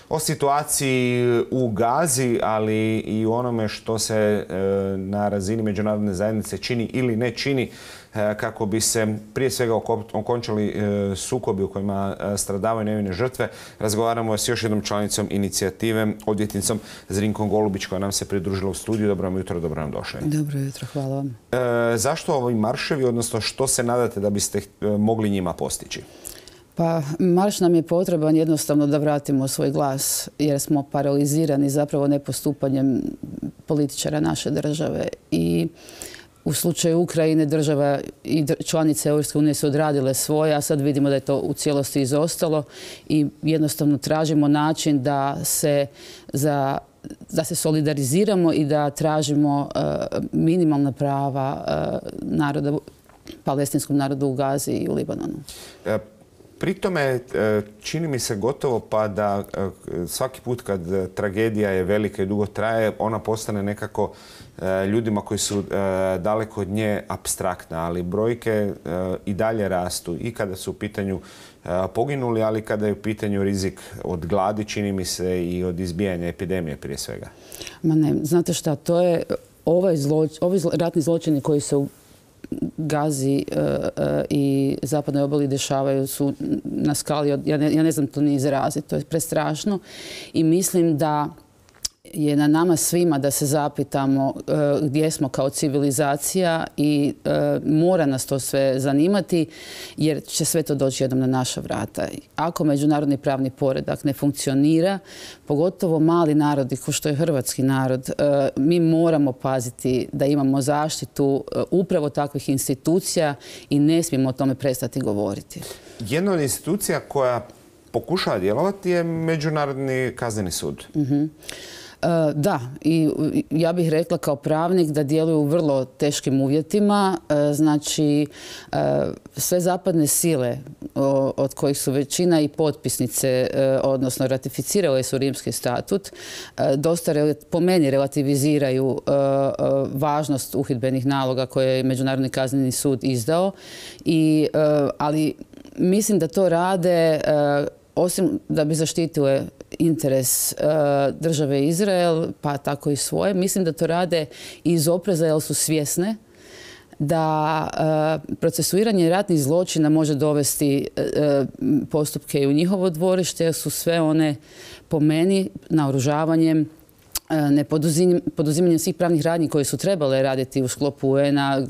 o situaciji u Gazi, ali i u onome što se na razini međunarodne zajednice čini ili ne čini kako bi se prije svega okončali sukobi u kojima stradavaju nevine žrtve. Razgovaramo s još jednom članicom inicijative, odvjetnicom Zrinkom Golubić, koja nam se pridružila u studiju. Dobro vam jutro, dobro nam došli. Dobro jutro, hvala vam. Zašto ovi marševi, odnosno što se nadate da biste mogli njima postići? Pa marš nam je potreban jednostavno da vratimo svoj glas, jer smo paralizirani zapravo nepostupanjem političara naše države. I u slučaju Ukrajine država i članice Europske unije su odradile svoje, a sad vidimo da je to u cijelosti izostalo i jednostavno tražimo način da se solidariziramo i da tražimo minimalna prava palestinskom narodu u Gazi i u Libanonu. Pri tome čini mi se gotovo pa da svaki put kad tragedija je velika i dugo traje, ona postane nekako ljudima koji su daleko od nje apstraktna, ali brojke i dalje rastu i kada su u pitanju poginuli, ali kada je u pitanju rizik od gladi, čini mi se, i od izbijanja epidemije prije svega. Ma ne, znate šta, to je ovi ratni zločini koji se u Gazi i zapadnoj obali dešavaju su na skali, ja ne znam to ni izraziti, to je prestrašno i mislim da je na nama svima da se zapitamo gdje smo kao civilizacija i mora nas to sve zanimati jer će sve to doći jednom na naša vrata. Ako međunarodni pravni poredak ne funkcionira, pogotovo mali narodi kao što je hrvatski narod, mi moramo paziti da imamo zaštitu upravo takvih institucija i ne smijemo o tome prestati govoriti. Jedna od institucija koja pokušava djelovati je Međunarodni kazneni sud. Da, i ja bih rekla kao pravnik da djeluju u vrlo teškim uvjetima. Znači, sve zapadne sile, od kojih su većina i potpisnice, odnosno ratificirale su Rimski statut, dosta po meni relativiziraju važnost uhidbenih naloga koje je Međunarodni kazneni sud izdao. Ali mislim da to rade osim da bi zaštitile interes države Izrael, pa tako i svoje. Mislim da to rade iz opreza jer su svjesne da procesuiranje ratnih zločina može dovesti postupke i u njihovo dvorište jer su sve one po meni naoružavanjem, nepoduzimanjem svih pravnih radnji koje su trebale raditi u sklopu UN-a,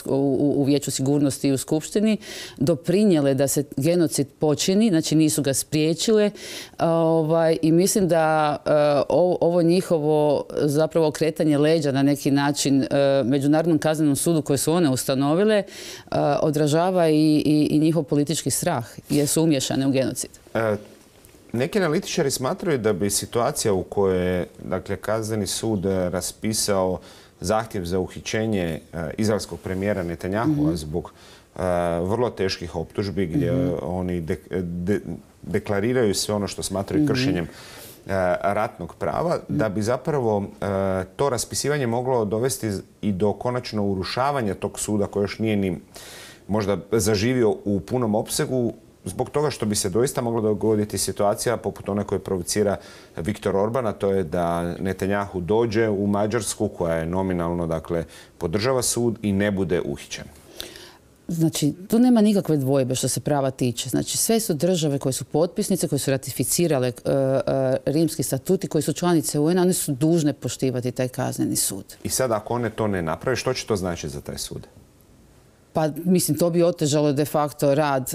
u Vijeću sigurnosti i u Skupštini, doprinijele da se genocid počini, znači nisu ga spriječile. I mislim da ovo njihovo zapravo okretanje leđa na neki način Međunarodnom kaznenom sudu koje su one ustanovile odražava i njihov politički strah jer su umiješane u genocid. Neki analitičari smatraju da bi situacija u kojoj je kazneni sud raspisao zahtjev za uhićenje izraelskog premijera Netanjahua zbog vrlo teških optužbi gdje oni deklariraju sve ono što smatraju kršenjem ratnog prava, da bi zapravo to raspisivanje moglo dovesti i do konačno urušavanja tog suda koji još nije ni možda zaživio u punom opsegu, zbog toga što bi se doista mogla dogoditi situacija poput one koje provocira Viktor Orban, a to je da Netanjahu dođe u Mađarsku, koja je nominalno, podržava sud i ne bude uhićen. Znači, tu nema nikakve dvojbe što se prava tiče. Znači, sve su države koje su potpisnice, koje su ratificirale Rimski statut i koje su članice UN-a, one su dužne poštivati taj kazneni sud. I sad, ako one to ne naprave, što će to značiti za taj sud? Pa mislim, to bi otežalo de facto rad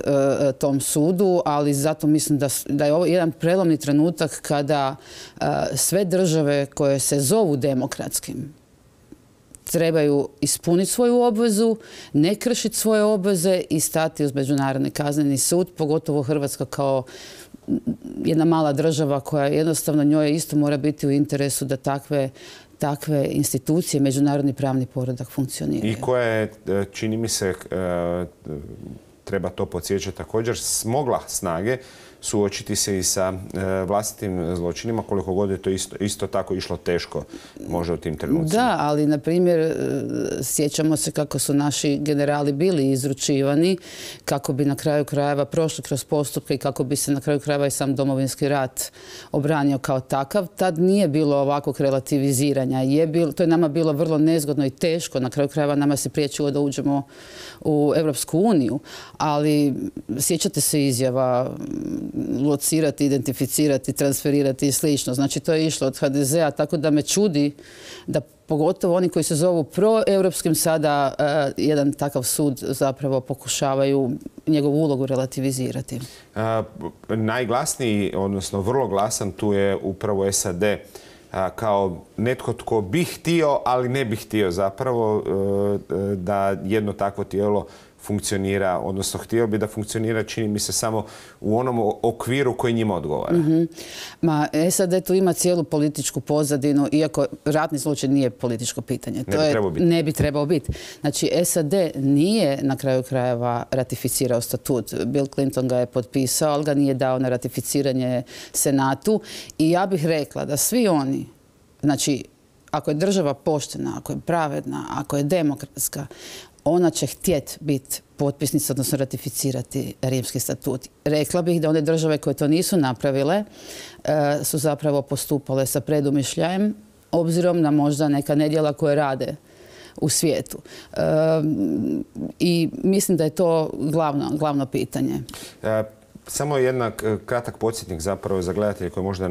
tom sudu, ali zato mislim da je ovo jedan prelomni trenutak kada sve države koje se zovu demokratskim trebaju ispuniti svoju obvezu, ne kršiti svoje obveze i stati uz Međunarodni kazneni sud, pogotovo Hrvatska kao jedna mala država koja jednostavno njoj isto mora biti u interesu da takve institucije, međunarodni pravni poredak funkcioniraju. I koja je, čini mi se, treba to podsjećati također, smogla snage suočiti se i sa vlastitim zločinima, koliko god je to isto tako išlo teško možda u tim trenucima. Da, ali na primjer sjećamo se kako su naši generali bili izručivani kako bi na kraju krajeva prošli kroz postupke i kako bi se na kraju krajeva i sam Domovinski rat obranio kao takav. Tad nije bilo ovakvog relativiziranja. To je nama bilo vrlo nezgodno i teško. Na kraju krajeva nama se priječilo da uđemo u Europsku uniju. Ali sjećate se izjava locirati, identificirati, transferirati i slično. Znači to je išlo od HDZ-a, tako da me čudi da pogotovo oni koji se zovu proeuropskim sada jedan takav sud zapravo pokušavaju njegovu ulogu relativizirati. Najglasniji, odnosno vrlo glasan, tu je upravo SAD kao netko tko bi htio, ali ne bi htio zapravo da jedno takvo tijelo funkcionira, odnosno htio bi da funkcionira, čini mi se, samo u onom okviru koji njima odgovara. Ma, SAD tu ima cijelu političku pozadinu, iako ratni zločin nije političko pitanje. Ne bi trebao biti. Znači, SAD nije na kraju krajeva ratificirao statut. Bill Clinton ga je potpisao, ali ga nije dao na ratificiranje Senatu. I ja bih rekla da svi oni, znači, ako je država poštena, ako je pravedna, ako je demokratska, ona će htjeti biti potpisnica, odnosno ratificirati Rimski statut. Rekla bih da one države koje to nisu napravile su zapravo postupale sa predumišljajem, obzirom na možda neka nedjela koje rade u svijetu. I mislim da je to glavno pitanje. Samo jedan kratak podsjetnik zapravo za gledatelje koji možda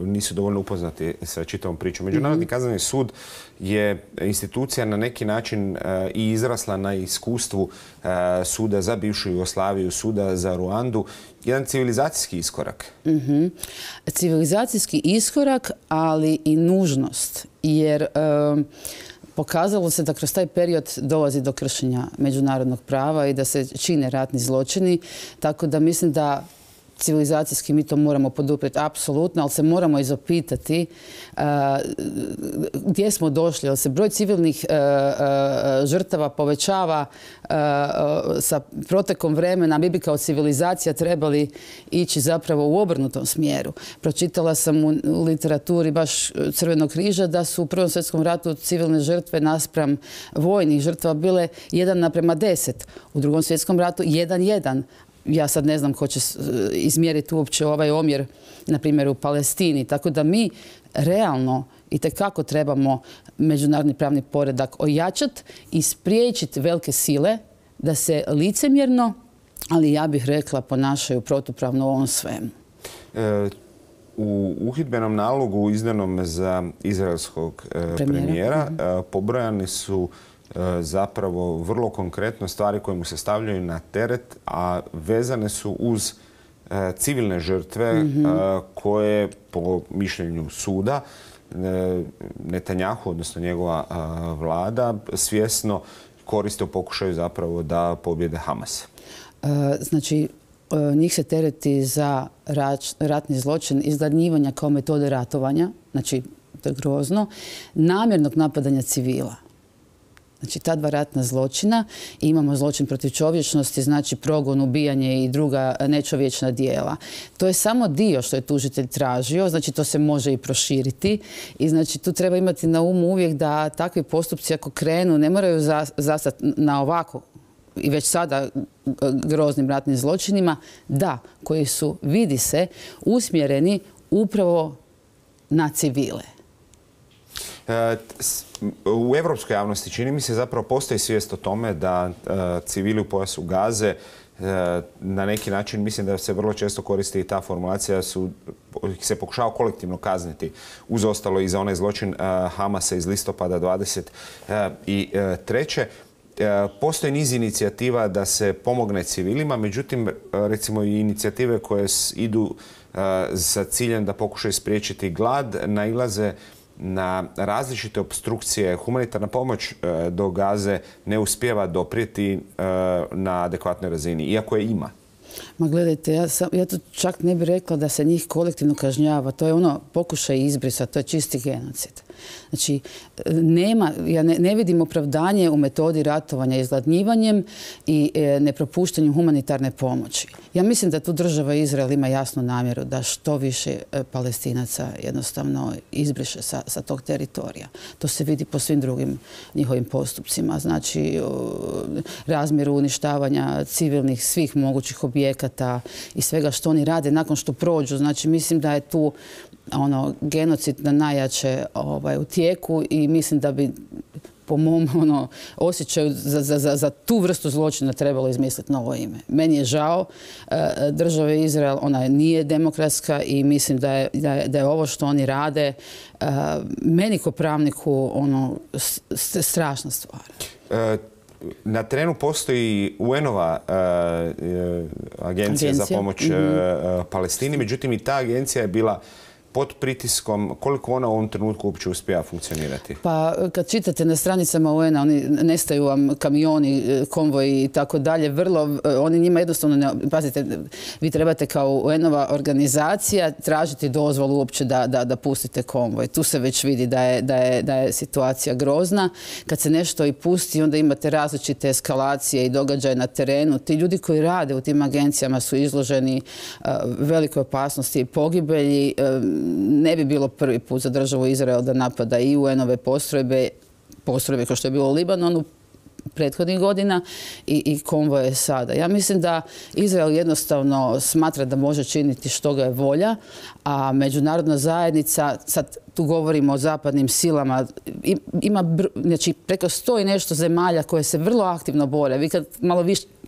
nisu dovoljno upoznati sa čitavom pričom. Međunarodni kazneni sud je institucija na neki način i izrasla na iskustvu suda za bivšu Jugoslaviju, suda za Ruandu. Jedan civilizacijski iskorak. Civilizacijski iskorak, ali i nužnost. Jer pokazalo se da kroz taj period dolazi do kršenja međunarodnog prava i da se čine ratni zločini, tako da mislim da civilizacijski mi to moramo poduprijeti apsolutno, ali se moramo i zapitati gdje smo došli, jer se broj civilnih žrtava povećava sa protekom vremena. Mi bi kao civilizacija trebali ići zapravo u obrnutom smjeru. Pročitala sam u literaturi baš Crvenog križa da su u Prvom svjetskom ratu civilne žrtve naspram vojnih žrtava bile 1:10. U Drugom svjetskom ratu 1:1. Ja sad ne znam ko će izmjeriti uopće ovaj omjer, na primjer, u Palestini. Tako da mi realno itekako trebamo međunarodni pravni poredak ojačati i spriječiti velike sile da se licemjerno, ali ja bih rekla, ponašaju protupravno u ovom svemu. U uhidbenom nalogu izdanom za izraelskog premijera pobrojani su zapravo vrlo konkretno stvari koje mu se stavljaju na teret, a vezane su uz civilne žrtve koje, po mišljenju suda, Netanjahu, odnosno njegova vlada, svjesno koriste u pokušaju zapravo da pobjede Hamas. Znači, njih se tereti za ratni zločin, izgladnjivanja kao metode ratovanja, znači to je grozno, namjernog napadanja civila. Znači, ta dva ratna zločina. Imamo zločin protiv čovječnosti, znači progon, ubijanje i druga nečovječna djela. To je samo dio što je tužitelj tražio, znači to se može i proširiti. I znači tu treba imati na umu uvijek da takvi postupci ako krenu ne moraju zastati na ovako i već sada groznim ratnim zločinima, da, koji su, vidi se, usmjereni upravo na civile. U evropskoj javnosti čini mi se zapravo postoji svijest o tome da civili u pojasu Gaze na neki način, mislim da se vrlo često koristi i ta formulacija, se pokušava kolektivno kazniti uz ostalo i za onaj zločin Hamasa iz listopada 23. Postoji niz inicijativa da se pomogne civilima, međutim, recimo i inicijative koje idu sa ciljem da pokušaju spriječiti glad, nailaze na različite opstrukcije. Humanitarna pomoć do Gaze ne uspijeva doprijeti na adekvatnoj razini, iako je ima. Ma gledajte, ja tu čak ne bih rekla da se njih kolektivno kažnjava. To je ono pokušaj izbrisa, to je čisti genocid. Znači, ja ne vidim opravdanje u metodi ratovanja izgladnjivanjem i nepropuštanju humanitarne pomoći. Ja mislim da tu država Izrael ima jasnu namjeru da što više Palestinaca jednostavno izbriše sa tog teritorija. To se vidi po svim drugim njihovim postupcima. Znači, razmjeru uništavanja civilnih svih mogućih objekata i svega što oni rade nakon što prođu. Znači, mislim da je tu genocid na najjače u tijeku i mislim da bi po mom osjećaju za tu vrstu zločina trebalo izmisliti novo ime. Meni je žao države Izrael, ona nije demokratska i mislim da je ovo što oni rade meni ko pravniku strašna stvar. Na terenu postoji UN-ova agencija za pomoć Palestini, međutim i ta agencija je bila pod pritiskom. Koliko ona u ovom trenutku uopće uspija funkcionirati? Pa kad čitate na stranicama UN-a, oni nestaju vam kamioni, konvoji i tako dalje. Oni njima jednostavno pazite, vi trebate kao UN-ova organizacija tražiti dozvolu uopće da pustite konvoj. Tu se već vidi da je situacija grozna. Kad se nešto i pusti, onda imate različite eskalacije i događaje na terenu. Ti ljudi koji rade u tim agencijama su izloženi velikoj opasnosti i pogibelji. Ne bi bilo prvi put za državu Izrael da napada i UN-ove postrojbe kao što je bilo u Libanonu prethodnih godina i konvoje sada. Ja mislim da Izrael jednostavno smatra da može činiti što ga je volja, a međunarodna zajednica, sad tu govorimo o zapadnim silama, ima znači, preko 100 i nešto zemalja koje se vrlo aktivno bore. Vi kad malo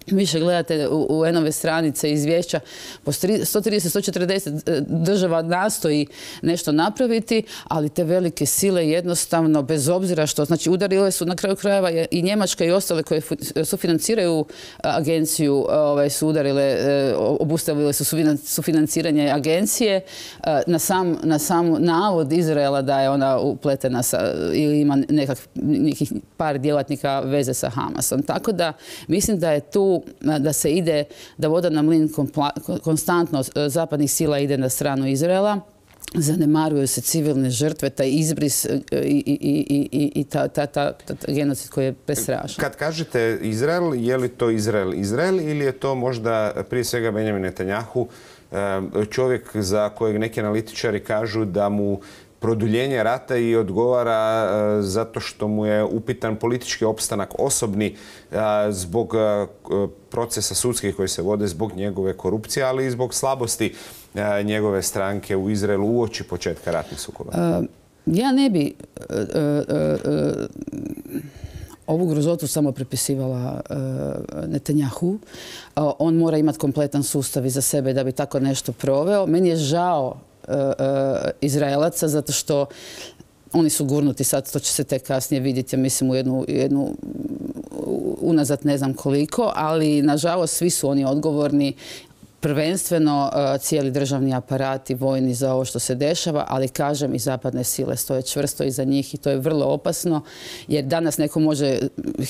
više gledate u UN-ove stranice izvješća, po 130-140 država nastoji nešto napraviti, ali te velike sile jednostavno, bez obzira što, znači udarile su na kraju krajeva i Njemačka i ostale koje sufinanciraju agenciju, su udarile, obustavile su sufinanciranje agencije na sam navod Izraela da je ona upletena ili ima nekih par djelatnika veze sa Hamasom. Tako da mislim da je tu da se ide, da voda na mlin konstantno zapadnih sila ide na stranu Izraela. Zanemaruju se civilne žrtve, taj izbris i ta genocid koji je prestrašan. Kad kažete Izrael, je li to Izrael ili je to možda prije svega Benjamin Netanjahu, čovjek za kojeg neki analitičari kažu da mu produljenje rata i odgovara zato što mu je upitan politički opstanak osobni zbog procesa sudskih koji se vode, zbog njegove korupcije, ali i zbog slabosti njegove stranke u Izraelu uoči početka ratnih sukoba? Ja ne bi ovu grozotu samo pripisivala Netanjahu. On mora imati kompletan sustav iza sebe da bi tako nešto proveo. Meni je žao Izraelaca zato što oni su gurnuti sad, to će se tek kasnije vidjeti, ja mislim u jednu unazad ne znam koliko, ali nažalost svi su oni odgovorni, prvenstveno cijeli državni aparat i vojni za ovo što se dešava, ali kažem i zapadne sile stoje čvrsto iza njih i to je vrlo opasno jer danas neko može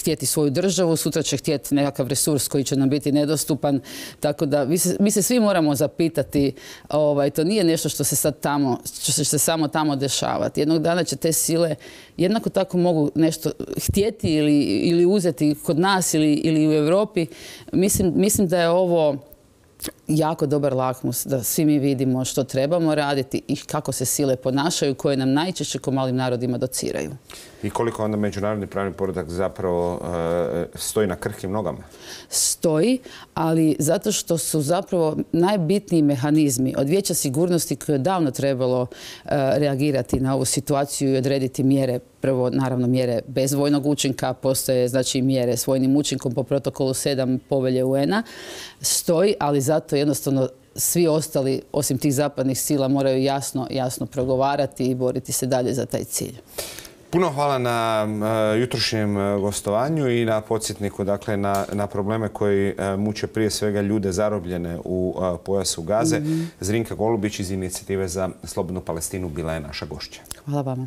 htjeti svoju državu, sutra će htjeti nekakav resurs koji će nam biti nedostupan, tako da mi se svi moramo zapitati, to nije nešto što će se samo tamo dešavati. Jednog dana će te sile jednako tako mogu nešto htjeti ili uzeti kod nas ili u Europi. Mislim da je ovo jako dobar lakmus da svi mi vidimo što trebamo raditi i kako se sile ponašaju koje nam najčešće ko malim narodima dociraju. I koliko onda međunarodni pravni poredak zapravo stoji na krhkim nogama? Stoji, ali zato što su zapravo najbitniji mehanizmi od Vijeća sigurnosti koje je davno trebalo reagirati na ovu situaciju i odrediti mjere, prvo naravno mjere bez vojnog učinka, postoje znači mjere s vojnim učinkom po protokolu 7 povelje UN-a, stoji, ali zato jednostavno svi ostali, osim tih zapadnih sila, moraju jasno progovarati i boriti se dalje za taj cilj. Puno hvala na jutrošnjem gostovanju i na podsjetniku, dakle, na probleme koji muče prije svega ljude zarobljene u pojasu Gaze. Zrinka Golubić iz Inicijative za slobodnu Palestinu bila je naša gošća. Hvala vama.